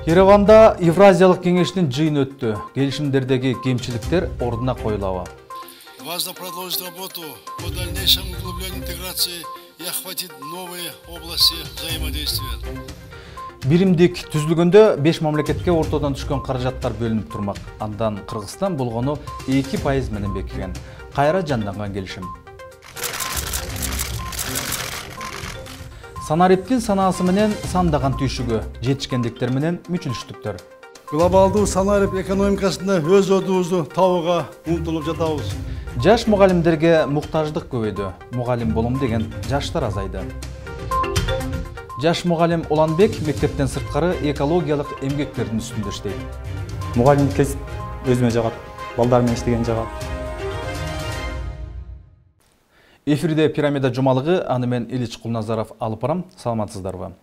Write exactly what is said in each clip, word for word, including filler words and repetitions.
Ереванда Евразиялык кеңештин жыйыны өттү. Келишимдердеги кемчиликтер ордуна коюлабы? Важно продолжить работу по дальнейшему углублению интеграции и охватить новые области взаимодействия. Биримдик түзүлгөндө беш мамлекетке ортодон түшкөн каражаттар бөлүнүп турмак. Андан Кыргызстан болгону эки пайыз менен бекиген. Кайра жанданган келишим. Санариптин санаасы менен сандаган түйшүгү, жетишкендиктер менен мүчүлүштүктөр. Глобалдуу санарип экономикасында өз ордубузду табууга умтулуп жатабыз. Жаш мугалимдерге муктаждык көбөйдү. Мугалим болом деген жаштар азайды. Жаш мугалим Уланбек мектептен сырткары экологиялык эмгектердин үстүндө иштейт. Мугалим кесип өзүмө жагат, балдар менен иштеген жагат. Эфирде пирамида жумалыгы, аны мен Ильич Кулназаров алып барам. Саламатсыздарбы?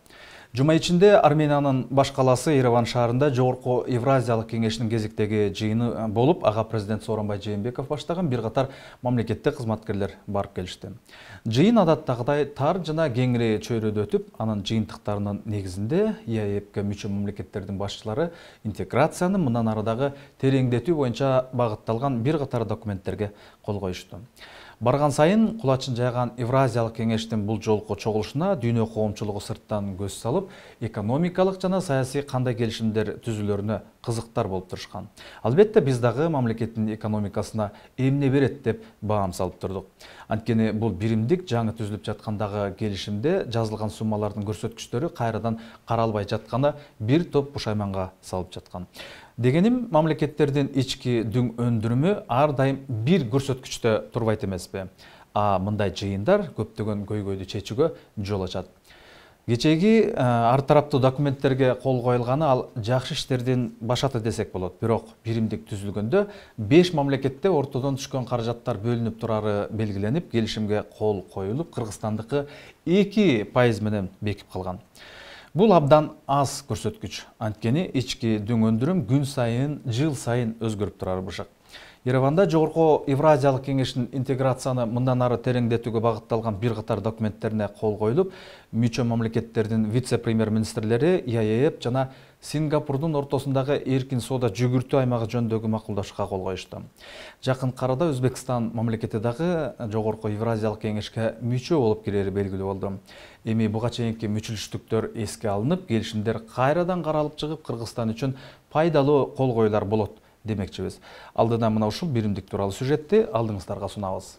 Жума ичинде Армениянын баш калаасы Ереван шаарында Жогорку Евразиялык кеңештин кезектеги жыйыны болуп, ага президент Сооронбай Жээнбеков баштаган бир катар мамлекеттик кызматкерлер барып келишти. Жыйын адаттагыдай тар жана кеңири чөйрөдө өтүп, анын жыйынтыктарынын негизинде ЕАЭПке мүчө мамлекеттердин башчылары интеграцияны мындан арадагы тереңдетүү боюнча багытталган бир катар документтерге кол коюшту. Барган сайын кулачын жайган Евразиялык кеңештин бул жолку чогулушуна дүйнө коомчулугу сырттан көз салып, экономикалык жана саясий кандай келишимдер түзүлөрүнө кызыктар болуп турушкан. Албетте биз дагы мамлекеттин экономикасына эмне берет деп баам салып турдук. Анткени бул биримдик жаңы түзүлүп жаткандагы келишимде жазылган суммалардын көрсөткүчтөрү кайрадан каралбай жатканы бир топ пушайманга салып жаткан. Дегеним, мамлекеттердин ички дүң өндүрүмү ар дайым бир көрсөткүчтө турбайт эмеспи. А мындай жыйындар көптөгөн көйгөйдү чечүүгө жол ачат. Кечеги ар тараптуу документтерге кол коюлганы ал жакшы иштердин башаты десек болот. Бирок биримдик түзүлгөндө беш мамлекетте ортодон түшкөн каражаттар бөлүнүп турары белгиленип, келишимге кол коюлуп, Кыргызстандыкы эки пайыз менен бекип калган. Бул абдан аз көрсөткүч. Анткени ички дүң өндүрүм күн сайын, жыл сайын өзгөрүп турары бышак. Ереванда Жогорку Евразиялык кеңештин интеграцияны мындан ары тереңдетүүгө багытталган бир катар документтерине кол коюлуп, мүчө мамлекеттердин вице-премьер-министрлери ЕАЭП жана Сингапурдун ортосундагы эркин соода жүгүртүү аймагы жөнүндөгү макулдашууга кол коюшту. Жакын арада Өзбекстан мамлекети дагы Жогорку Евразиялык кеңешке мүчө болуп кирери белгилүү болду. Эми буга чейинки мүчүлүштүктөр эске алынып, келишимдер кайрадан каралып чыгып, Кыргызстан үчүн пайдалуу кол коюлар болот демекчибиз. Алдыдан мына ушул биримдик тууралуу сюжетти алдыңыздарга сунабыз.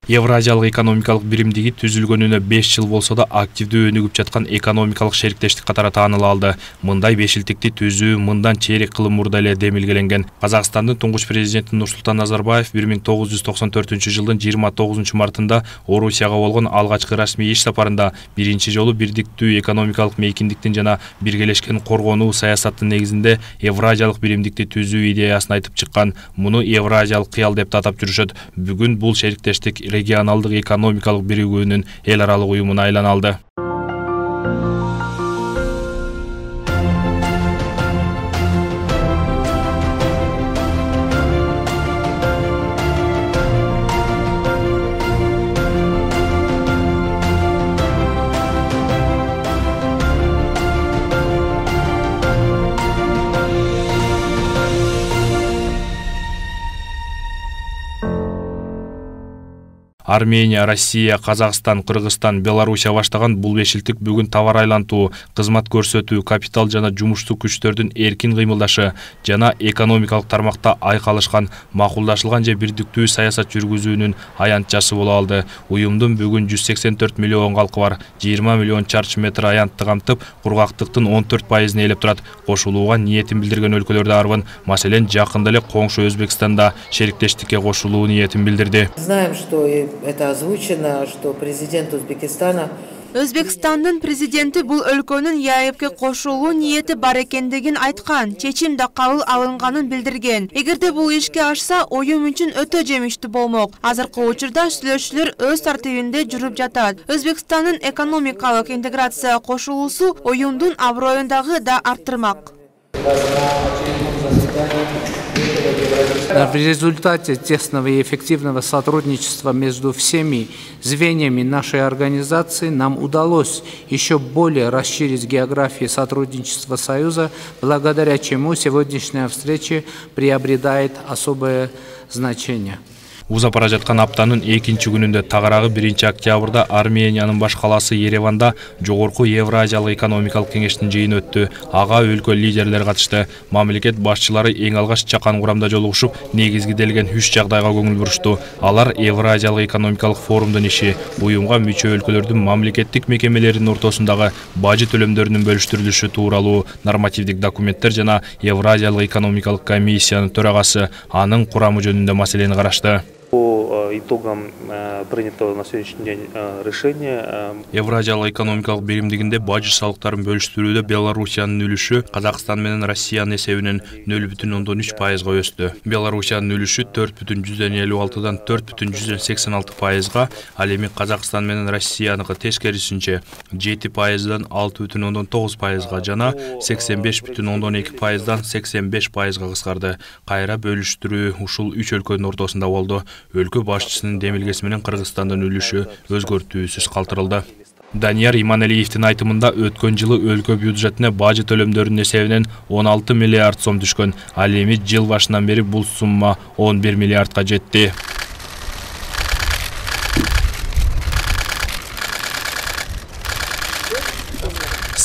Евразиялык экономикалык биримдиги түзүлгөнүнө беш жыл болсо да активдүү өнүгүп жаткан экономикалык шериктештик катары тааныла алды. Мындай бешилтикти түзүү мындан чейрек кылым мурда эле демилгеленген. Казакстандын туңгуч президенти Нурсултан Назарбаев бир миң тогуз жүз токсон төртүнчү жылдын жыйырма тогузунчу мартында Орусияга болгон алгачкы расмий иш сапарында биринчи жолу бирдиктүү экономикалык мейкиндиктин жана биргелешкен коргонуу саясаттын негизинде Евразиялык биримдикти түзүү идеясын айтып чыккан. Муну Евразиялык кыял деп атап жүрүшөт. Бүгүн бул шериктештик регионалдык экономикалык биригүүнүн эл аралык уюмуна айлана алды. Армения, Россия, Казакстан, Кыргызстан, Белоруссия баштаган бул бешилтик бүгүн товар айлантуу, кызмат көрсөтүү, капитал жана жумуштуу күчтөрдүн эркин кыймылдашы жана экономикалык тармакта айкалышкан, макулдашылган же бирдиктүү саясат жүргүзүүнүн аянтчасы боло алды. Уюмдун бүгүн жүз сексен төрт миллион калкы бар, жыйырма миллион чарчы метр аянтты камтып, кургактыктын он төрт пайызын ээлеп турат. Кошулууга ниетин билдирген өлкөлөр да арбын. Маселен, жакында эле коңшу Өзбекстанда шериктештикке кошулуу ниетин билдирди. Знаем, что это озвучено, что президент Узбекистана Өзбекстандын президенти бул өлкөнүн ЕАЭПке кошулуу ниети бар экендигин айткан, чечим да кабыл алынганын билдирген. Эгерде бул ишке ашса, уюм үчүн өтө жемиштүү болмок. Азыркы учурда сүйлөшүүлөр өз тартибинде жүрүп жатат. Өзбекстандын экономикалык интеграция кошулуусу уюмдун аброюн дагы да арттырмак. В результате тесного и эффективного сотрудничества между всеми звеньями нашей организации нам удалось еще более расширить географию сотрудничества Союза, благодаря чему сегодняшняя встреча приобретает особое значение. Узап бара жаткан аптанын экинчи күнүндө тагыраагы биринчи октябрда Армениянын баш калаасы Ереванда Жогорку Евразиялык экономикалык кеңештин жыйыны өттү. Ага өлкө лидерлери катышты. Мамлекет башчылары эң алгач чакан курамда жолугушуп, негизгиделген үч жагдайга көңүл бурушту. Алар Евразиялык экономикалык форумдун иши, уюмга мүчө өлкөлөрдүн мамлекеттик мекемелеринин ортосундагы бажы төлөмдөрүнүн бөлүштүрүлүшү тууралуу нормативдик документтер жана Евразиялык экономикалык комиссиянын төрагасы анын курамы жөнүндө маселени карашты. По итогам принятого на сегодняшний день решения Евразиялык экономикалык биримдигинде бажы салыктарын бөлүштүрүүдө Белоруссиянын үлүшү Казакстан менен Россиянын эсебинен нөл бүтүн ондон үч пайызга өстү. Белоруссиянын үлүшү төрт бүтүн жүздөн элүү алтыдан төрт бүтүн жүздөн сексен алты пайызга, ал эми Казакстан менен Россияныкы тескерисинче жети пайыздан алты бүтүн ондон тогуз пайызга жана сексен беш бүтүн ондон эки пайыздан сексен беш пайызга кыскарды. Кайра бөлүштүрүү ушул үч өлкөнүн ортосунда болду. Өлкө башчысынын демилгеси менен Кыргызстандын үлүшү өзгөртүүсүз калтырылды. Данияр Иманалиевдин айтымында өткөн жылы өлкө бюджетине бажы төлөмдөрүнүн эсебинен он алты миллиард сом түшкөн. Ал эми жыл башынан бери бул сумма он бир миллиардка жетти.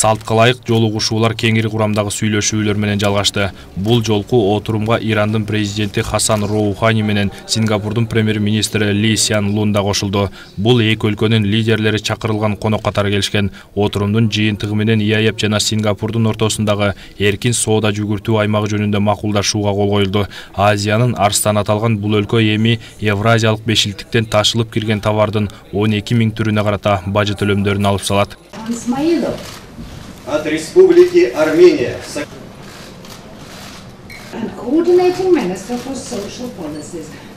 Салтка ылайык жолугушуулар кеңири курамдагы сүйлөшүүлөр менен жалгашты. Бул жолку отурумга Ирандын президенти Хасан Роухани менен Сингапурдун премьер-министри Ли Сян Лун да кошулду. Бул эки өлкөнүн лидерлери чакырылган конок катары келишкен. Отурумдун жыйынтыгы менен ИАЭП жана Сингапурдун ортосундагы эркин соода жүгүртүү аймагы жөнүндө макулдашууга кол коюлду. Азиянын арстаны аталган бул өлкө эми Евразиялык бешилтиктен ташылып кирген товардын он эки миң түрүнө карата бажы төлөмдөрүн алып салат. От Республики Армения.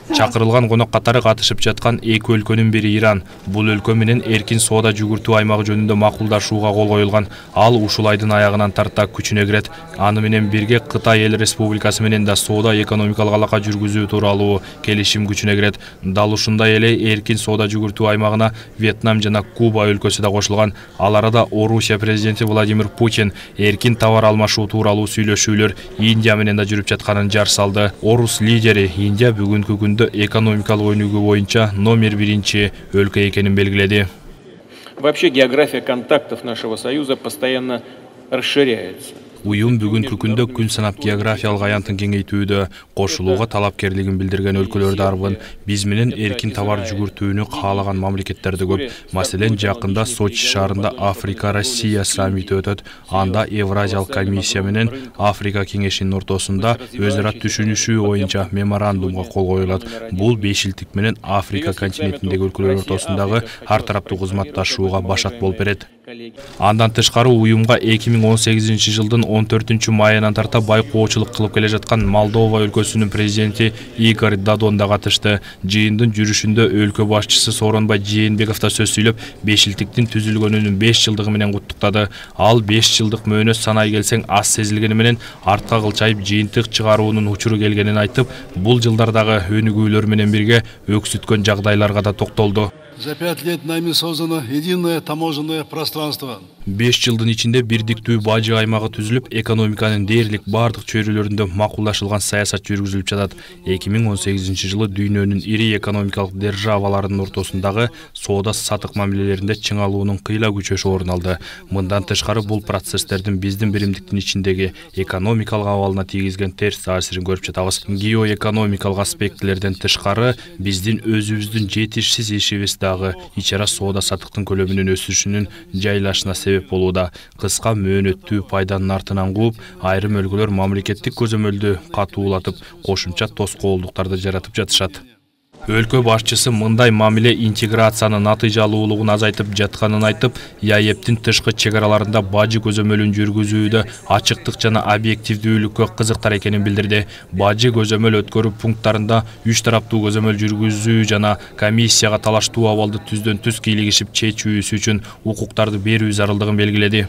Чакырылган конок катары катышып жаткан эки өлкөнүн бири Иран. Бул өлкө менен эркин соода жүгүртүү аймагы жөнүндө макулдашууга кол коюлган. Ал ушул айдын аягынан тарта күчүнө кирет. Аны менен бирге Кытай Эл Республикасы менен да соода экономикалык алака жүргүзүү тууралуу келишим күчүнө кирет. Дал ушундай эле эркин соода жүгүртүү аймагына Вьетнам жана Куба өлкөсү да кошулган. Ал арада Орусия президенти Владимир Путин эркин товар алмашуу тууралуу сүйлөшүүлөр Индия менен да жүрүп жатканын жар салды. Орус лидери Индия бүгүнкү күндө экономикалык өнүгүү боюнча номер биринчи өлкө экенин белгиледи. Вообще география контактов нашего союза постоянно расширяется. Уюм бүгүнкү күндө күн санап географиялык аянтын кеңейтүүдө кошулууга талапкерлигин билдирген өлкөлөр дарбын. Биз менен эркин товар жүгүртүүнү каалаган мамлекеттер да көп. Маселен, жакында Сочи шаарында Африка Россия саммити өтөт. Анда Евразиялык комиссия менен Африка кеңешинин ортосунда өз ара түшүнүшүү боюнча меморандумга кол коюлат. Бул бешилтик менен Африка континентиндеги өлкөлөр ортосундагы ар тараптуу кызматташууга башат болуп берет. Андан тышкары уюмга эки миң он сегизинчи жылдын он төртүнчү майынан тарта байкоочулук кылып келе жаткан Молдова өлкөсүнүн президенти Игорь Додон да катышты. Жыйындын жүрүшүндө өлкө башчысы Сооронбай Жээнбеков да сөз сүйлөп, бешилтиктин түзүлгөнүнүн беш жылдыгы менен куттуктады. Ал беш жылдык мөөнөт санай келсең аз сезилгени менен артка кылчайып жыйынтык чыгаруунун учуру келгенин айтып, бул жылдардагы өнүгүүлөр менен бирге өксүткөн жагдайларга да токтолду. За пять лет нами создано единое таможенное пространство. беш жылдын ичинде бирдиктүү бажы аймагы түзүлүп, экономиканын дээрлик бардык чөйрөлөрүндө макулдашылган саясат жүргүзүлүп жатат. эки миң он сегизинчи жылы дүйнөнүн ири экономикалык державаларынын ортосундагы соода сатык мамилелеринде чыңалуунун кыйла күчөшү орун алды. Мындан тышкары бул процесстердин биздин биримдиктин ичиндеги экономикалык абалына тийгизген терс таасирин көрүп жатабыз. Геоэкономикалык аспектилерден тышкары биздин өзүбүздүн жетишсиз ишибиз дагы ич ара соода сатыктын көлөмүнүн өсүшүнүн жайлашына себеп болууда. Кыска мөөнөттүү пайданын артынан кууп, айрым өлкөлөр мамлекеттик көзөмөлдү катуулатып, кошумча тоскоолдуктарды жаратып жатышат. Өлкө башчысы мындай мамиле интеграциянын натыйжалуулугун азайтып жатканын айтып, ИАЭПтин тышкы чек араларында бажы көзөмөлүн жүргүзүүдө ачыктык жана объективдүүлүккө кызыктар экенин билдирди. Бажы көзөмөл өткөрүү пункттарында үч тараптуу көзөмөл жүргүзүү жана комиссияга талаштуу абалды түздөн түз кийлигишип чечүүсү үчүн укуктарды берүү зарылдыгын белгиледи.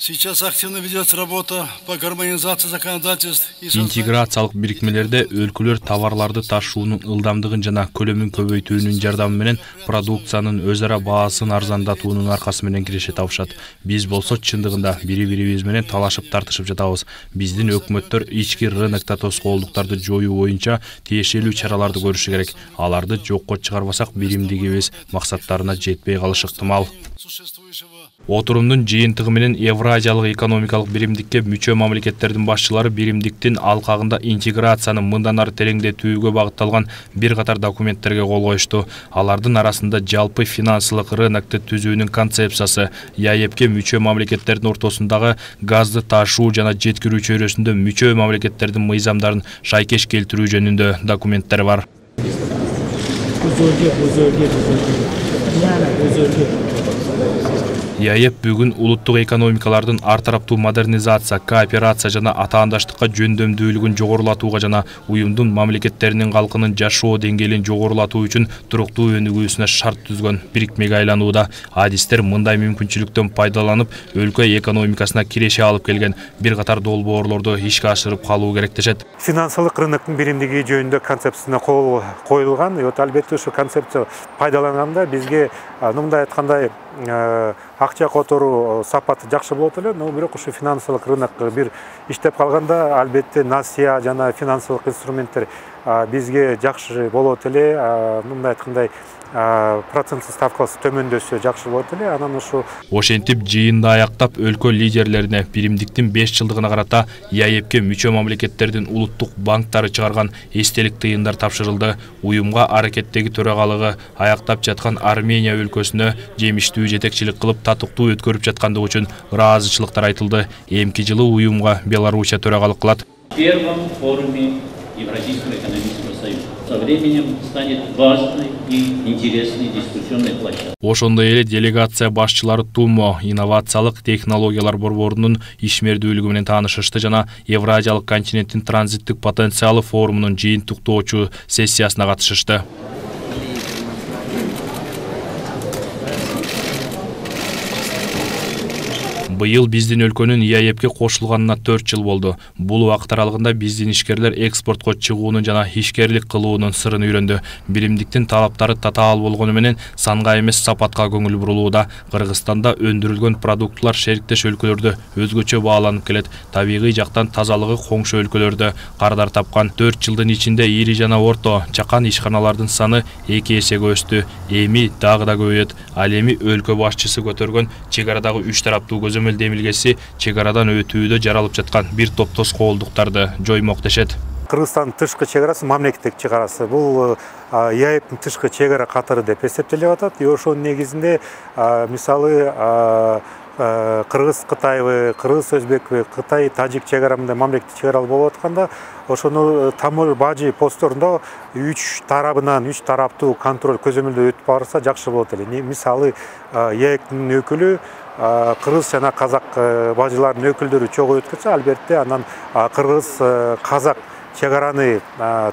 Сейчас активно ведется работа по гармонизации законодательств и интеграциялык бирикмелерде өлкөлөр товарларды ташуунун ылдамдыгын жана көлөмүн көбөйтүүнүн жардамы менен продукциянын өз ара баасын арзандатуунун аркасы менен киреше табышат. Биз болсо чындыгында бири-бирибиз менен талашып тартышып жатабыз. Биздин өкмөттөр ички рынокто тоскоолдуктарды жоюу боюнча тиешелүү чараларды көрүшү керек. Аларды жокко чыгарбасак биримдигибиз максаттарына жетпей калышы ыктымал. Отурумдун жыйынтыгы менен Евразиялык экономикалык биримдикке мүчө мамлекеттердин башчылары биримдиктин алкагында интеграцияны мындан ары тереңдетүүгө багытталган бир катар документтерге кол коюшту. Алардын арасында жалпы финансылык рынокту түзүүнүн концепциясы, ЯЭПке мүчө мамлекеттердин ортосундагы газды ташуу жана жеткирүү чөйрөсүндө мүчө мамлекеттердин мыйзамдарын шайкеш келтирүү жөнүндө документтер бар. ЯЭП бүгүн улуттук экономикалардын ар тараптуу модернизация, кооперация жана атаандаштыкка жөндөмдүүлүгүн жогорулатууга жана уюмдун мамлекеттеринин калкынын жашоо деңгээлин жогорулатуу үчүн туруктуу өнүгүүсүнө шарт түзгөн бирикмеге айланууда. Адистер мындай мүмкүнчүлүктөн пайдаланып, өлкө экономикасына киреше алып келген бир катар долбоорлорду ишке ашырып калуу керек дешет. Финансылык рыноктун биримдиги жөнүндө концепциясына кол коюлган. Вот албетте ушу концепция пайдаланганда бизге мындай айткандай акча которуу сапаты жакшы болот эле, но бирок ушу финансылык рынок бир иштеп калганда албетте насия жана финансылык инструменттер бизге жакшы болот эле. Мындай айткандай проценттик ставкасы төмөндөсө жакшы болот эле. Анан ушу ошентип жыйынды аяктап өлкө лидерлерине биримдиктин беш жылдыгына карата ЯЭПке мүчө мамлекеттердин улуттук банктары чыгарган эстелик тыйындар тапшырылды. Уюмга аракеттеги төрагалыгы аяктап жаткан Армения өлкөсүнө жемиштүү жетекчилик кылып татыктуу өткөрүп жаткандыгы үчүн ыраазычылыктар айтылды. Эмки жылы уюмга Белоруссия төрагалык кылат. В первом форуме Евразийского экономического союза со временем станет важной и интересной дискуссионной площадкой. Ошондой эле делегация башчылары ТУМО инновациялык технологиялар борборунун ишмердүүлүгү менен таанышышты жана Евразиялык континенттин транзиттик потенциалы форумунун жыйынтыктоочу сессиясына катышышты. Быйыл биздин өлкөнүн ЯЭПке кошулганына төрт жыл болду. Бул убакыт аралыгында биздин ишкерлер экспортко чыгуунун жана ишкерлик кылуунун сырын үйрөндү. Биримдиктин талаптары татаал болгону менен санга эмес сапатка көңүл бурулууда. Кыргызстанда өндүрүлгөн продуктулар шериктеш өлкөлөрдө өзгөчө бааланып келет. Табигый жактан тазалыгы коңшу өлкөлөрдө кардар тапкан. төрт жылдын ичинде ири жана орто чакан ишканалардын саны эки эсеге өстү. Эми дагы да көбөйөт. Ал эми өлкө башчысы көтөргөн чек арадагы үч тараптуу көзөмөл демилгеси чек арадан өтүүдө жаралып жаткан бир топ тоскоолдуктарды жоймок дешет. Кыргызстандын тышкы чек арасы мамлекеттик чек арасы. Бул ЯЭПтин тышкы чек ара катары деп эсептелип атат. И ошонун негизинде мисалы Кыргыз Кытайбы, Кыргыз Өзбекпи, Кытай Тажик чек арамында мамлекеттик чек аралар болуп атканда, ошону тамыр бажы постторунда үч тарабынан үч тараптуу контроль көзөмөлдөө өтүп барса жакшы болот эле. Мисалы ЯЭПтин өкүлү Кыргыз жана казак бажылардын өкүлдөрү чогуу өткөрсө, албетте анан кыргыз казак чек араны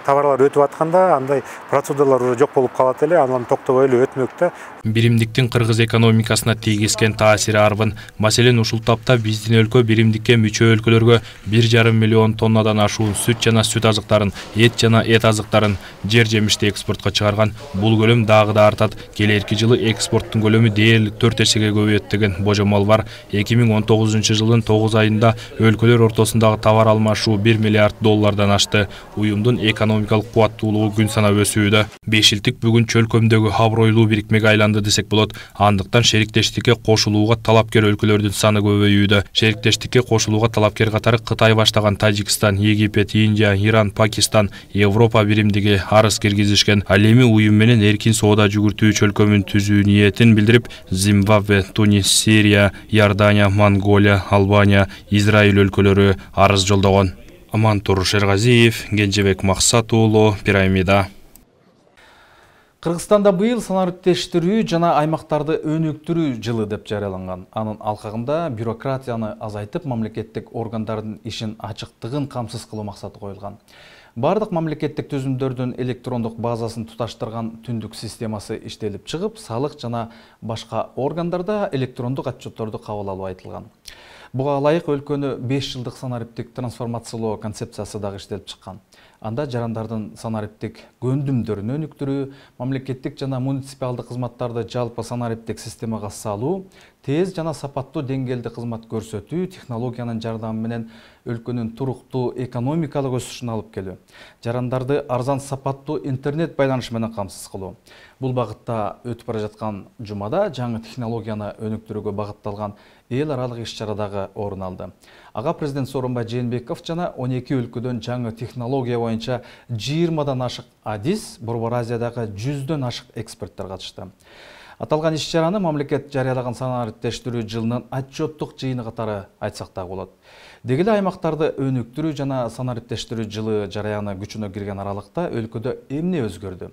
товарлар өтүп атканда андай процедуралар уже жок болуп калат эле, анан токтобой эле өтмөктө. Биримдиктин кыргыз экономикасына тийгизген таасири арбын. Маселен, ушул тапта биздин өлкө биримдикке мүчө өлкөлөргө бир жарым миллион тоннадан ашуун сүт жана сүт азыктарын, эт жана эт азыктарын, жер жемишти экспортко чыгарган. Бул көлөм дагы да артат. Келерки жылы экспорттун көлөмү дээрлик төрт эсеге көбөйөт деген божомол бар. эки миң он тогузунчу жылдын тогуз айында өлкөлөр ортосундагы товар алмашуу бир миллиард доллардан ашты. Уюмдун экономикалык кубаттуулугу күн санап өсүүдө. Бешилтик бүгүн чөлкөмдөгү абройлуу бирикмеге айланды десек болот. Андыктан шериктештикке кошулууга талапкер өлкөлөрдүн саны көбөйүүдө. Шериктештикке кошулууга талапкер катары Кытай баштаган Тажикстан, Египет, Индия, Иран, Пакистан, Европа биримдиги арыз киргизишкен. Ал эми уюм менен эркин соода жүгүртүү чөлкөмүн түзүү ниетин билдирип, Зимбабве, Тунис, Сирия, Иордания, Монголия, Албания, Израиль өлкөлөрү арыз жолдогон. Амантур Шергазиев, Кенжебек Максат уулу, Пирамида. Кыргызстанда быйыл санариптештирүү жана аймактарды өнүктүрүү жылы деп жарыяланган. Анын алкагында бюрократияны азайтып, мамлекеттик органдардын ишин ачыктыгын камсыз кылуу максаты коюлган. Бардык мамлекеттик түзүмдөрдүн электрондук базасын туташтырган түндүк системасы иштелип чыгып, салык жана башка органдарда электрондук отчетторду кабыл алуу айтылган. Буга ылайык өлкөнү беш жылдык санариптик трансформациялоо концепциясы дагы иштелип чыккан. Анда жарандардын санариптик көндүмдөрүн өнүктүрүү, мамлекеттик жана муниципалдык кызматтарды жалпы санариптик системага салуу, тез жана сапаттуу деңгээлде кызмат көрсөтүү, технологиянын жардамы менен өлкөнүн туруктуу экономикалык өсүшүн алып келүү, жарандарды арзан сапаттуу интернет байланышы менен камсыз кылуу. Бул багытта өтүп бара жаткан жумада жаңы технологияны өнүктүрүүгө багытталган эл аралык иш-чара дагы орун алды. Ага президент Сооронбай Жээнбеков жана он эки өлкөдөн жаңы технология боюнча жыйырмадан ашык адис, Борбор Азиядагы жүздөн ашык эксперттер катышты. Аталган иш-чараны мамлекет жарыялаган санариптештирүү жылынын отчеттук жыйыны катары айтсак да болот. Деги эле аймактарды өнүктүрүү жана санариптештирүү жылы жарыяны күчүнө кирген аралыкта өлкөдө эмне өзгөрдү?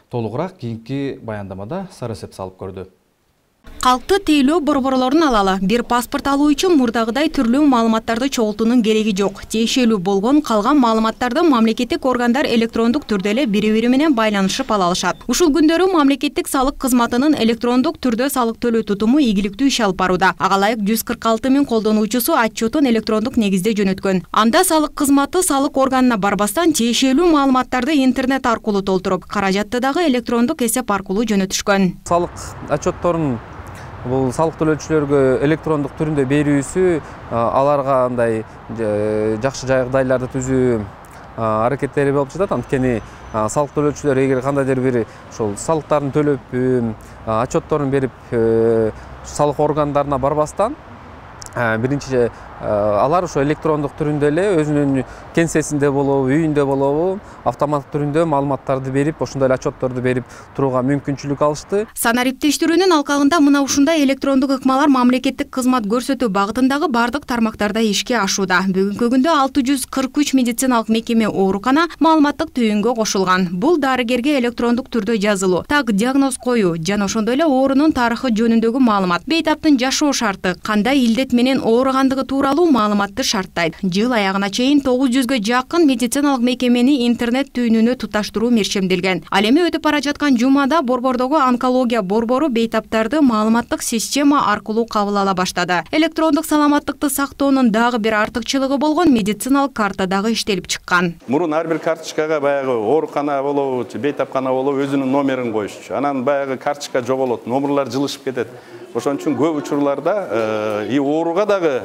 Толугураак кийинки баяндамада сарасеп салып көрдү. Калкты тейлөө борборлорун алалы. Бир паспорт алуу үчүн мурдагыдай түрлүү маалыматтарды чогултуунун кереги жок. Тиешелүү болгон калган маалыматтарды мамлекеттик органдар электрондук түрдө эле бири-бири менен байланышып ала алышат. Ушул күндөрү мамлекеттик салык кызматынын электрондук түрдө салык төлөө тутуму ийгиликтүү иш алып барууда. Ага ылайык жүз кырк алты миң колдонуучусу отчетун электрондук негизде жөнөткөн. Анда салык кызматы салык органына барбастан тиешелүү маалыматтарды интернет аркылуу толтуруп, каражатты дагы электрондук эсеп аркылуу жөнөтүшкөн. Салык отчетторун бул салык төлөөчүлөргө электрондук түрүндө берүүсү аларга андай жакшы жагдайларды түзүү аракеттери болуп жатат. Анткени салык төлөөчүлөр эгер кандайдыр бир ошол салыктарын төлөп, отчетторун берип, салык органдарына барбастан биринчи алар ошо электрондук түрүндө эле өзүнүн кеңсесинде болобу, үйүндө болобу, автомат түрүндө маалыматтарды берип, ошондой эле отчетторду берип турууга мүмкүнчүлүк алышты. Санариптештирүүнүн алкагында мына ушундай электрондук ыкмалар мамлекеттик кызмат көрсөтүү багытындагы бардык тармактарда ишке ашууда. Бүгүнкү күндө алты жүз кырк үч медициналык мекеме оорукана маалыматтык түйүнгө кошулган. Бул дарыгерге электрондук түрдө жазылуу, так диагноз коюу жана ошондой эле оорунун тарыхы жөнүндөгү маалымат, бейтаптын жашоо шарты, кандай илдет менен ооругандыгы тууралуу маалыматты шарттайт. Жыл аягына чейин тогуз жүзгө жакын медициналык мекемени интернет түйүнүнө туташтыруу мерчемделген. Ал эми өтүп бара жаткан жумада борбордогу онкология борбору бейтаптарды маалыматтык система аркылуу кабыл ала баштады. Электрондук саламаттыкты сактоонун дагы бир артыкчылыгы болгон медициналык карта дагы иштелип чыккан. Мурун ар бир карточкага баягы оорукана болобу, бейтапкана болобу өзүнүн номерин коюшчу. Анан баягы карточка жоголот, номерлар жылышып кетет. Ошон үчүн көп учурларда и ооруга дагы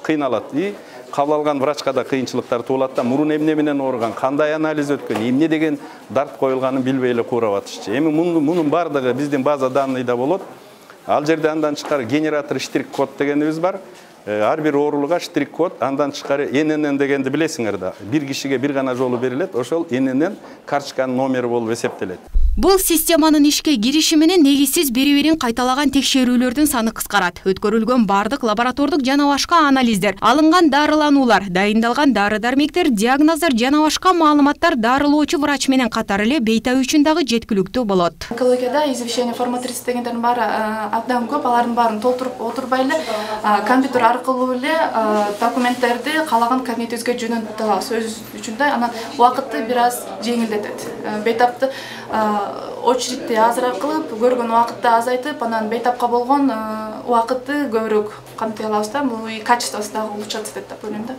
кыйналат, и кабыл алган врачка да кыйынчылыктар туулат да. Мурун эмне менен ооруган, кандай анализ өткөн, эмне деген дарт коюлганын билбей эле куурап атышчу. Эми мунун бардыгы биздин база данныйда болот. Ал жерде андан тышкары генератор штрих-код дегенибиз бар. Ар бир оорулуга штрих-код, андан тышкары эн эн эн дегенди билесиңер да. Бир кишиге бир гана жолу берилет, ошол эн эн эн карточканын номери болуп эсептелет. Бул системанын ишке кириши менен негизсиз бири-бирин кайталаган текшерүүлөрдүн саны кыскарат. Өткөрүлгөн бардык лаборатордук жана башка анализдер, алынган дарылануулар, дайындалган дары-дармектер, диагноздор жана башка маалыматтар дарылоочу врач менен катар эле бейтап үчүн дагы жеткиликтүү болот. Онкологияда извещение форма тридцать дегендердин баары абдан көп, алардын баарын толтуруп отурбай эле компьютер аркылуу эле документтерди каалаган кабинетибизге жөнөтүп алабыз. Өз үчүн да анан убакытты бир аз жеңилдетет. Бейтапты очередти азыраак кылып, көргөн убакытты азайтып, анан бейтапка болгон убакытты көбүрөөк камтый алабыз да. Бул качествосы дагы улучшат деп ойлойм да.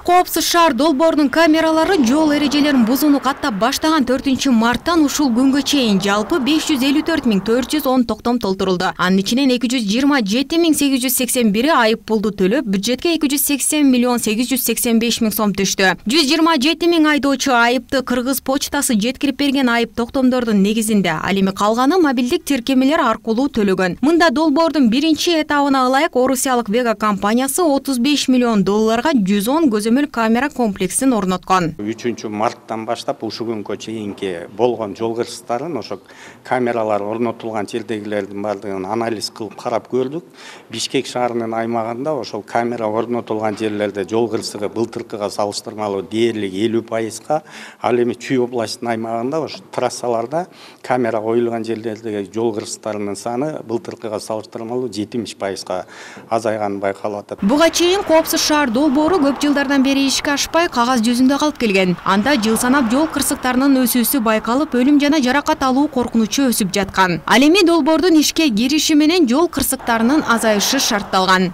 Коопсуз шаар долбоорунун камералары жол эрежелерин бузууну каттап баштаган төртүнчү марттан ушул күнгө чейин жалпы беш жүз элүү төрт миң төрт жүз он токтом толтурулду. Анын ичинен эки жүз жыйырма жети миң сегиз жүз сексен бири айып пулду төлөп, бюджетке эки жүз сексен миллион сегиз жүз сексен беш миң сом түштү. жүз жыйырма жети миң айдоочу айыпты Кыргыз почтасы жеткирип берген айып токтомдордун негизинде, ал эми калганы мобилдик тиркемелер аркылуу төлөгөн. Мында долбоордун биринчи этабына ылайык Орусиялык Вега компаниясы отуз беш миллион долларга жүз он көзөмөл камера комплексин орноткон. үчүнчү марттан баштап ушул күнгө чейинки болгон жол кырсыктарын ошо камералар орнотулган жердегилердин баардыгын анализ кылып карап көрдүк. Бишкек шаарынын аймагында ошол камера орнотулган жерлерде жол кырсыгы былтыркыга салыштырмалуу дээрлик элүү пайызга, ал эми Чүй областынын аймагында ошо трассаларда камера коюлган жерлердеги жол кырсыктарынын саны былтыркыга салыштырмалуу жетимиш пайызга азайганы байкалып атат. Буга чейин Коопсуз шаар долбоору көп жылдардан бери бери ишке ашпай кагаз жүзүндө калып келген. Анда жыл санап жол кырсыктарынын өсүүсү байкалып, өлүм жана жаракат алуу коркунучу өсүп жаткан. Ал эми долбоордун ишке кириши менен жол кырсыктарынын азайышы шартталган.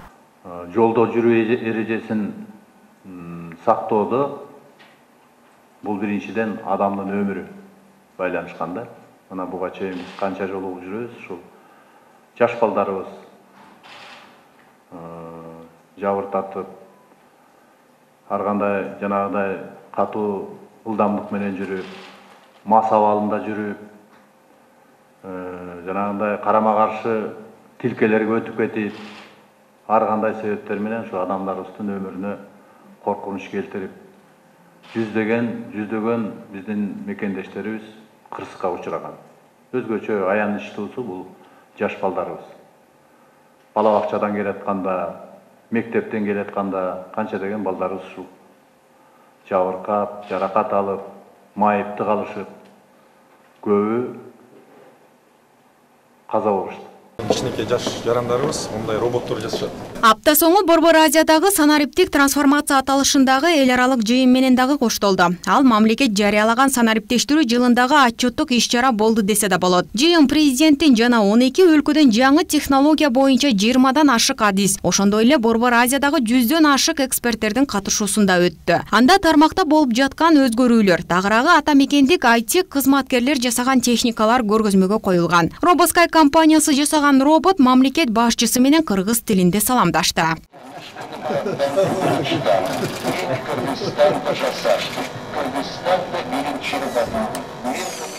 Жолдо жүрүү эрежесин сактоодо бул биринчиден адамдын өмүрү байланышканда. Мына буга чейин канча жолу жүрөбүз, ушул жаш балдарыбыз жабыртатып, ар кандай жанагыдай катуу ылдамдык менен жүрүп, мас абалында жүрүп, жанагындай карама каршы тилкелерге өтүп кетип, ар кандай себептер менен ушу адамдарыбыздын өмүрүнө коркунуч келтирип, жүздөгөн жүздөгөн биздин мекендештерибиз кырсыкка учураган. Өзгөчө аянычтуусу бул жаш балдарыбыз. Бала бакчадан келатканда, мектептен келатканда канча деген балдарыбыз ушул жабыркап, жаракат алып, майыпты калышып, көбү каза болушту. Кичинекей жаш жарандарыбыз мындай роботтор жасашат. Апта соңу Борбор Азиядагы санариптик трансформация аталышындагы эл аралык жыйын менен дагы коштолду. Ал мамлекет жарыялаган санариптештирүү жылындагы отчеттук иш-чара болду десе да болот. Жыйын президенттин жана он эки өлкөдөн жаңы технология боюнча жыйырмадан ашык адис, ошондой эле Борбор Азиядагы жүздөн ашык эксперттердин катышуусунда өттү. Анда тармакта болуп жаткан өзгөрүүлөр, тагыраагы ата мекендик ай ти кызматкерлер жасаган техникалар көргөзмөгө коюлган. Робоскай компаниясы жасаган робот мамлекет башчысы менен кыргыз тилинде саламдашты.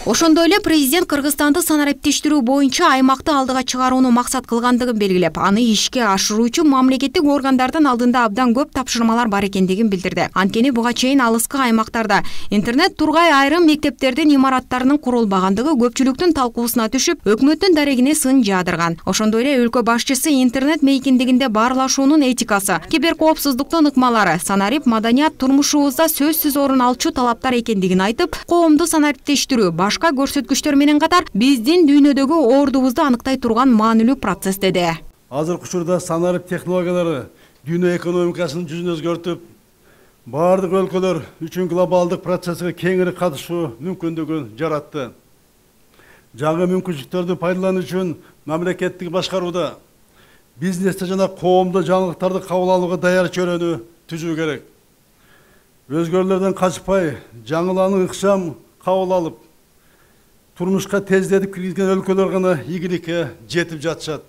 Ошондой эле президент Кыргызстанды санариптештирүү боюнча аймакты алдыга чыгарууну максат кылгандыгын белгилеп, аны ишке ашыруу үчүн мамлекеттик органдардын алдында абдан көп тапшырмалар бар экендигин билдирди. Анткени буга чейин алыскы аймактарда интернет тургай айрым мектептердин имараттарынын курулбагандыгы көпчүлүктүн талкуусуна түшүп, өкмөттүн дарегине сын жаадырган. Ошондой эле өлкө башчысы интернет мейкиндигинде баарлашуунун этикасы, киберкоопсуздуктун ыкмалары, санарип маданият турмушубузда сөзсүз орун алчу талаптар экендигин айтып, коомду санариптештирүү башка көрсөткүчтөр менен катар биздин дүйнөдөгү ордубузду аныктай турган маанилүү процесс деди. Азыркы учурда санарип технологиялары дүйнө экономикасын жүзүн өзгөртүп, бардык өлкөлөр үчүн глобалдык процесске кеңири катышуу мүмкүндүгүн жаратты. Жаңы мүмкүнчүлүктөрдү пайдалануу үчүн мамлекеттик башкарууда бизнесте жана коомдо жаңылыктарды кабыл алууга даяр чөйрөнү түзүү керек. Өзгөрүүлөрдөн качпай, жаңыланы ыкчам кабыл алып, турмушка тездетип киргизген өлкөлөр гана ийгиликке жетип жатышат.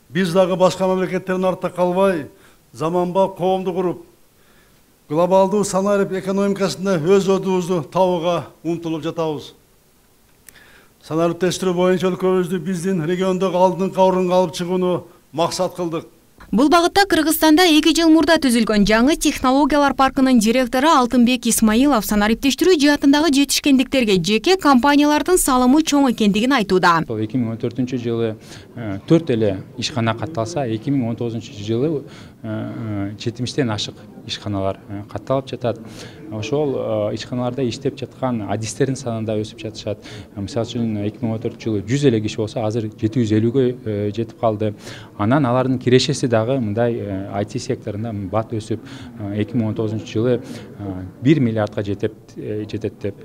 Биз дагы башка мамлекеттердин артта калбай, заманбап коомду куруп, глобалдуу санарип экономикасында өз ордубузду табууга умтулуп жатабыз. Санариптештирүү боюнча өлкөбүздү биздин региондогу алдыңкы орунга алып чыгууну максат кылдык. Бул багытта Кыргызстанда эки жыл мурда түзүлгөн жаңы технологиялар паркынын директору Алтынбек Исмаилов санариптештирүү жаатындагы жетишкендиктерге жеке компаниялардын салымы чоң экендигин айтууда. эки миң он төртүнчү жылы төрт эле ишкана катталса, эки миң он тогузунчу жылы жетимиштен ашык ишканалар катталып жатат. Ошол ишканаларда иштеп жаткан адистердин саны да өсүп жатышат. Мисалы үчүн эки миң он төртүнчү жылы жүз эле киши болсо, азыр жети жүз элүүгө жетип калды. Анан алардын кирешеси дагы мындай ай ти секторунда бат өсүп, эки миң он тогузунчу жылы бир миллиардга жетет жетет деп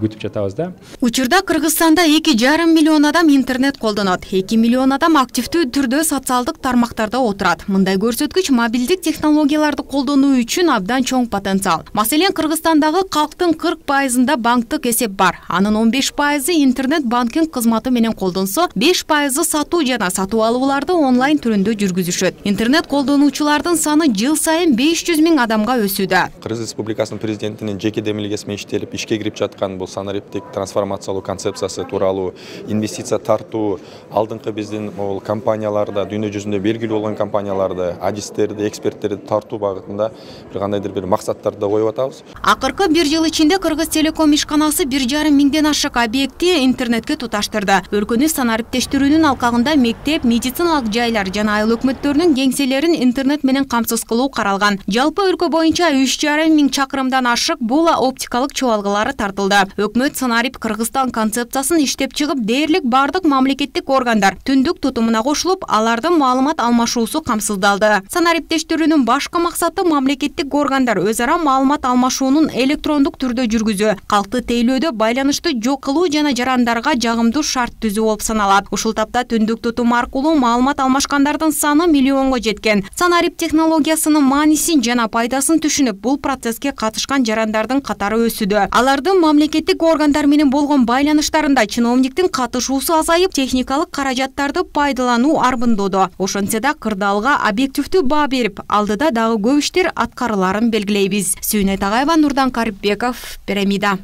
күтүп жатабыз да. Учурда Кыргызстанда эки жарым миллион адам интернет колдонот. эки миллион адам активдүү түрдө социалдык тармактарда отурат. Мындай көрсөткүч мобилдик технологияларды колдонуу үчүн абдан чоң потенциал. Маселен, Кыргызстандагы калктын кырк пайызында банктык эсеп бар. Анын он беш пайызы интернет банкинг кызматы менен колдонсо, беш пайызы сатуу жана сатуу алууларды онлайн түрүндө жүргүзүшөт. Интернет колдонуучулардын саны жыл сайын беш жүз миң адамга өсүүдө. Кыргыз Республикасынын президентинин жеке демилгеси менен иштелип ишке кирип жаткан бул санариптик трансформациялоо концепциясы тууралуу, инвестиция тартуу, алдыңкы биздин бул компанияларда, дүйнө жүзүндө белгилүү болгон компанияларды, адистерди, эксперттерди тартуу багытында бир кандайдыр бир максаттарды коюп атабыз. Акыркы бир жыл ичинде Кыргыз Телеком ишканасы бир жарым миңден ашык объектти интернетке туташтырды. Өлкөнү санариптештирүүнүн алкагында мектеп, медициналык жайлар жана айыл өкмөттөрүнүн кеңселерин интернет менен камсыз кылуу каралган. Жалпы өлкө боюнча үч жарым миң чакырымдан ашык бул оптикалык чуалгылары тартылды. Өкмөт санарип Кыргызстан концепциясын иштеп чыгып, дээрлик бардык мамлекеттик органдар түндүк тутумуна кошулуп, алардын маалымат алмашуусу жолдоосу камсыздалды. Санариптештирүүнүн башкы максаты мамлекеттик органдар өз ара маалымат алмашуунун электрондук түрдө жүргүзүү, калкты тейлөөдө байланышты жок кылуу жана жарандарга жагымдуу шарт түзүү болуп саналат. Ушул тапта түндүк тутум аркылуу маалымат алмашкандардын саны миллионго жеткен. Санарип технологиясынын маанисин жана пайдасын түшүнүп, бул процесске катышкан жарандардын катары өсүүдө. Алардын мамлекеттик органдар менен болгон байланыштарында чиновниктин катышуусу азайып, техникалык каражаттарды пайдалануу арбындоодо. Ошентсе да кырдаалга объективдүү баа берип, алдыда дагы көп иштер аткарыларын белгилейбиз. Сүйнөт Агайева, Нурдан Карипбеков, Пирамида.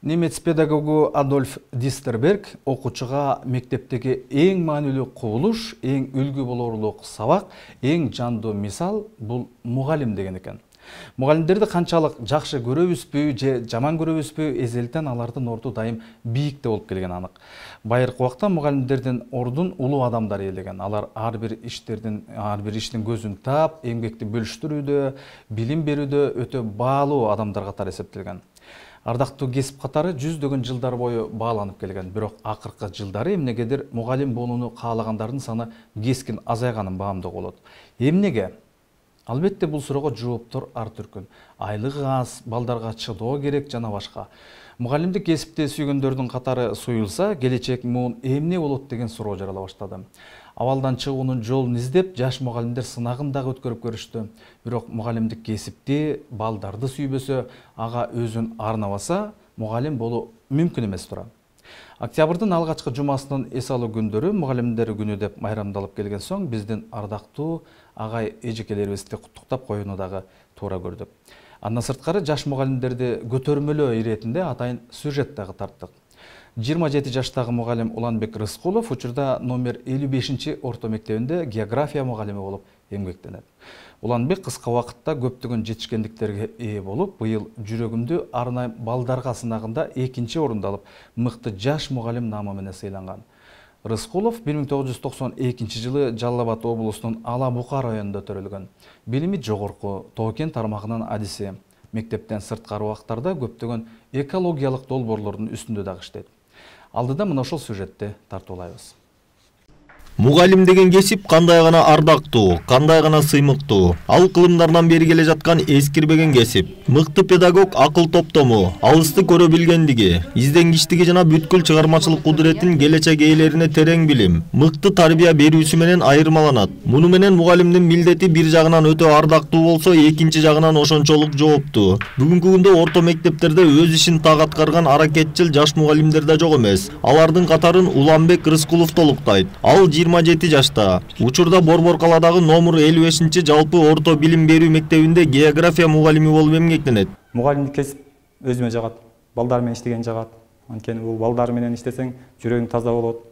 Немец педагогу Адольф Дистерберг окуучуга мектептеги эң маанилүү кубулуш, эң үлгү болорлук сабак, эң жандуу мисал бул мугалим деген экен. Мугалимдерди канчалык жакшы көрөбүзбү же жаман көрөбүзбү, эзелтен алардын орду дайым бийикте болуп келген анык. Байыркы убакта мугалимдердин ордун улуу адамдар ээлеген. Алар ар бир иштердин, ар бир иштин көзүн таап, эмгекти бөлүштүрүүдө, билим берүүдө өтө баалуу адамдар катары эсептелген. Ардактуу кесип катары жүздөгөн жылдар бою бааланып келген. Бирок акыркы жылдары эмнегедир мугалим болууну каалагандардын саны кескин азайганын баамдоого болот. Эмнеге? Албетте бул суроого жооптор ар түркүн. Айлыгы аз, балдарга чыдоо керек жана башка. Мугалимдик кесипти сүйгөндөрдүн катары суюлса, келечек муун эмне болот деген суроо жарала баштады. Абалдан чыгуунун жолун издеп, жаш мугалимдер сынагын дагы өткөрүп көрүштү. Бирок мугалимдик кесипти, балдарды сүйбөсө, ага өзүн арнабаса, мугалим болуу мүмкүн эмес тура. Октябрдын алгачкы жумасынын эс алуу күндөрү мугалимдер күнү деп майрамдалып келген соң, биздин ардактуу агай эжекелерибизди куттуктап коюуну дагы туура көрдүк. Андан сырткары жаш мугалимдерди көтөрмөлөө иретинде атайын сюжет дагы тарттык. жыйырма жети жаштагы мугалим Уланбек Рыскулов учурда номер элүү бешинчи орто мектебинде география мугалими болуп эмгектенет. Уланбек кыска убакытта көптөгөн жетишкендиктерге ээ болуп, быйыл жүрөгүмдү арнайым балдарга сынагында экинчи орунду алып, мыкты жаш мугалим наамы менен сыйланган. Рыскулов бир миң тогуз жүз токсон экинчи жылы Жалал Абад облусунун Ала Бука районунда төрөлгөн. Билими жогорку, Тоо-Кен тармагынын адиси. Мектептен сырткары убактарда көптөгөн экологиялык долбоорлордун үстүндө дагы иштейт. Алдыда мына ошол сюжетти тартуулайбыз. Мугалим деген кесип кандай гана ардактуу, кандай гана сыймыктуу. Ал кылымдардан бери келе жаткан эскирбеген кесип. Мыкты педагог акыл топтому, алысты көрө билгендиги, изденгичтиги жана бүткүл чыгармачылык кудуреттин келечек ээлерине терең билим, мыкты тарбия берүүсү менен айырмаланат. Муну менен мугалимдин милдети бир жагынан өтө ардактуу болсо, экинчи жагынан ошончолук жооптуу. Бүгүнкү күндө орто мектептерде өз ишин так аткарган аракетчил жаш мугалимдер да жок эмес. Алардын катарын Уланбек Рыскулов толуктайт. Ал жыйырма жети жашта. Учурда Борбор каладагы номер элүү бешинчи жалпы орто билим берүү мектебинде география мугалими болуп эмгектенет. Мугалимдик кесип өзүмө жагат. Балдар менен иштеген жагат. Анткени бул балдар менен иштесең, жүрөгүң таза болот.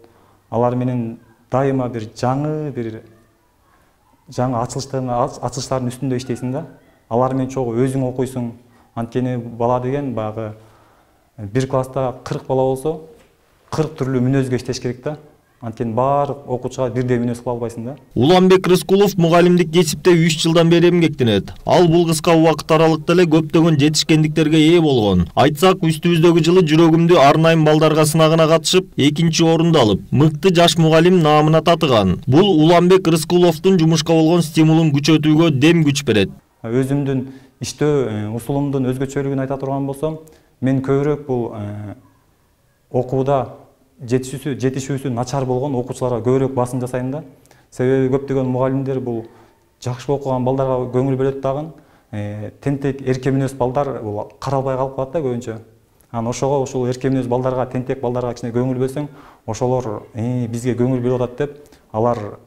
Алар менен дайыма бир жаңы бир жаңы ачылыштардын ачылыштардын үстүндө иштейсиң да. Алар менен чогуу өзүң окуйсуң. Анткени бала деген баягы бир класста кырк бала болсо, кырк түрлүү мүнөзгө иштеш керек да. Анткени баардык окуучуга бирдей мүнөз кыла албайсың да. Уланбек Рыскулов мугалимдик кесипте үч жылдан бери эмгектенет. Ал бул кыска убакыт аралыкта эле көптөгөн жетишкендиктерге ээ болгон. Айтсак, үстүбүздөгү жылы жүрөгүмдү арнайым балдарга сынагына катышып, экинчи орунду алып, мыкты жаш мугалим наамына татыган. Бул Уланбек Рыскуловдун жумушка болгон стимулун күчөтүүгө дем күч берет. Өзүмдүн иштөө усулумдун өзгөчөлүгүн айта турган болсом, мен көбүрөөк бул окууда жетишүүсү жетишүүсү начар болгон окуучуларга көбүрөөк басым жасайм да. Себеби көптөгөн мугалимдер бул жакшы окуган балдарга көңүл бөлөт дагы. Тентек эрке мүнөз балдар бул каралбай калып калат да көбүнчө. Анан ошого ушул эрке мүнөз балдарга, тентек балдарга кичине көңүл бөлсөң, ошолор бизге көңүл бөлүп атат деп, алар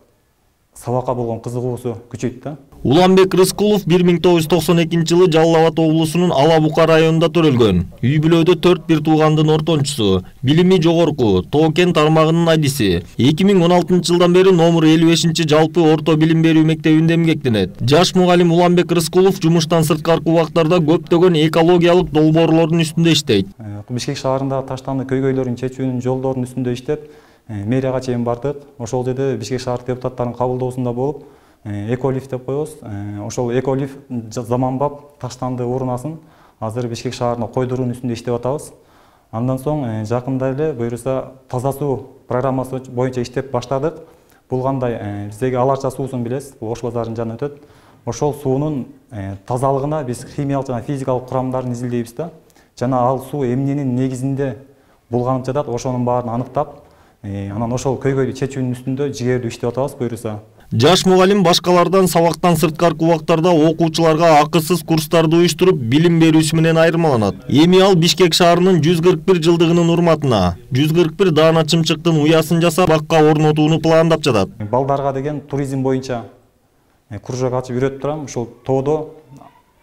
сабакка болгон кызыгуусу күчөйт да. Уланбек Рыскулов бир миң тогуз жүз токсон экинчи жылы Жалал Абад облусунун Ала Бука районунда төрөлгөн. Үй бүлөдө төрт бир туугандын ортончусу, билими жогорку, Тоо-Кен тармагынын адиси. эки миң он алтынчы жылдан бери номер элүү бешинчи жалпы орто билим берүү мектебинде эмгектенет. Жаш мугалим Уланбек Рыскулов жумуштан сырткаркы убактарда көптөгөн экологиялык долбоорлордун үстүндө иштейт. Бишкек шаарындагы таштанды көйгөйлөрүн чечүүнүн жолдорунун үстүндө иштеп, мэрияга чейин бардык. Ошол жерде Бишкек шаар депутаттарынын кабылдоосунда болуп, эколифт деп коебуз. Ошол эколифт заманбап таштанды урнасын азыр Бишкек шаарына койдуруунун үстүндө иштеп атабыз. Андан соң жакында эле буюрса таза суу программасы боюнча иштеп баштадык. Бул кандай биздеги Аларча суусун билесиз, бул Ош базарынын жанынан өтөт. Ошол суунун тазалыгына биз химиялык жана физикалык курамдарын изилдейбиз да. Жана ал суу эмненин негизинде булганып жатат, ошонун баарын аныктап, анан ошол көйгөйдү чечүүнүн үстүндө жигердүү иштеп атабыз буюрса. Жаш мугалим башкалардан сабактан сырткаркы убактарда окуучуларга акысыз курстарды уюштуруп билим берүүсү менен айырмаланат. Эми ал Бишкек шаарынын жүз кырк бир жылдыгынын урматына жүз кырк бир даана чымчыктын уясын жасап бакка орнотууну пландап жатат. Балдарга деген туризм боюнча кружок ачып үйрөтүп турам. Ушул тоодо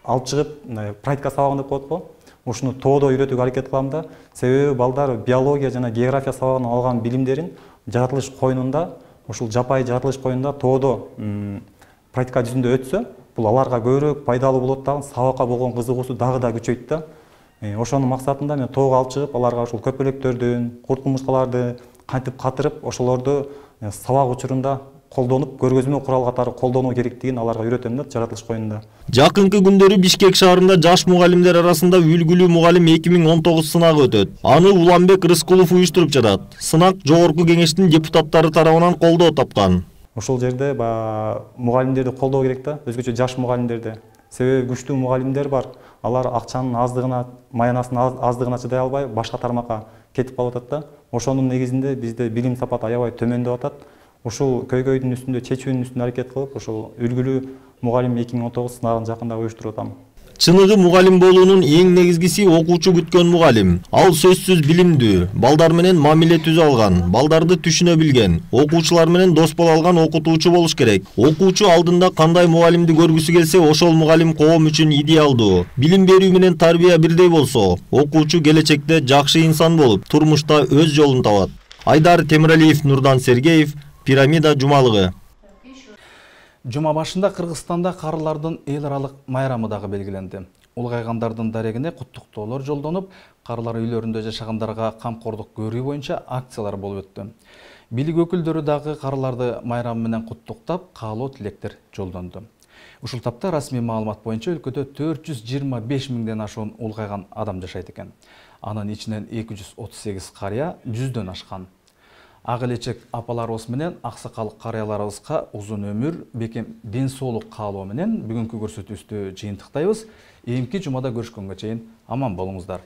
алып чыгып практика сабагын деп коет го. Ушуну тоодо үйрөтүүгө аракет кылам да. Себеби балдар биология жана география сабагынан алган билимдерин жаратылыш коюнунда, ушул жапайы жаратылыш коюнунда тоодо практика жүзүндө өтсө, бул аларга көбүрөөк пайдалуу болот да, сабакка болгон кызыгуусу дагы да күчөйт да. Ошонун максатында мен тоого алып чыгып, аларга ушул көпөлөктөрдүн, курт кумурскаларды кантип катырып, ошолорду сабак учурунда колдонуп, көргөзмө курал катары колдонуу керектигин аларга үйрөтөм да жаратылыш коюнунда. Жакынкы күндөрү Бишкек шаарында жаш мугалимдер арасында үлгүлүү мугалим эки миң он тогуз сынагы өтөт. Аны Уланбек Рыскулов уюштуруп жатат. Сынак жогорку кеңештин депутаттары тарабынан колдоо тапкан. Ошол жерде мугалимдерди колдоо керек да, өзгөчө жаш мугалимдерди. Себеби күчтүү мугалимдер бар. Алар акчанын аздыгына, маянасынын аздыгына чыдай албай, башка тармакка кетип калып атат да. Ошонун негизинде бизде билим сапаты аябай төмөндөп атат. Ушул көйгөйдүн үстүндө, чечүүнүн үстүндө аракет кылып, ушул үлгүлүү мугалим эки миң он тогуз сынагын жакында уюштуруп атам. Чыныгы мугалим болуунун эң негизгиси окуучу күткөн мугалим. Ал сөзсүз билимдүү, балдар менен мамиле түзө алган, балдарды түшүнө билген, окуучулар менен дос боло алган окутуучу болуш керек. Окуучу алдында кандай мугалимди көргүсү келсе, ошол мугалим коом үчүн идеалдуу. Билим берүү менен тарбия бирдей болсо, окуучу келечекте жакшы инсан болуп, турмушта өз жолун табат. Айдар Темиралиев, Нурдан Сергеев, Пирамида жумалыгы. Жума башында Кыргызстанда карылардын эл аралык майрамы дагы белгиленди. Улгайгандардын дарегине куттуктоолор жолдонуп, карылар үйлөрүндө жашагандарга камкордук көрүү боюнча акциялар болуп өттү. Бийлик өкүлдөрү дагы карыларды майрамы менен куттуктап, каалоо тилектер жолдонду. Ушул тапта расмий маалымат боюнча өлкөдө төрт жүз жыйырма беш миңден ашуун улгайган адам жашайт экен. Анын ичинен эки жүз отуз сегиз карыя жүздөн ашкан. Ак элечек апаларыбыз менен аксакал карыяларыбызга узун өмүр, бекем ден соолук каалоо менен бүгүнкү көрсөтүүбүздү жыйынтыктайбыз. Эмки жумада көрүшкөнгө чейин аман болуңуздар.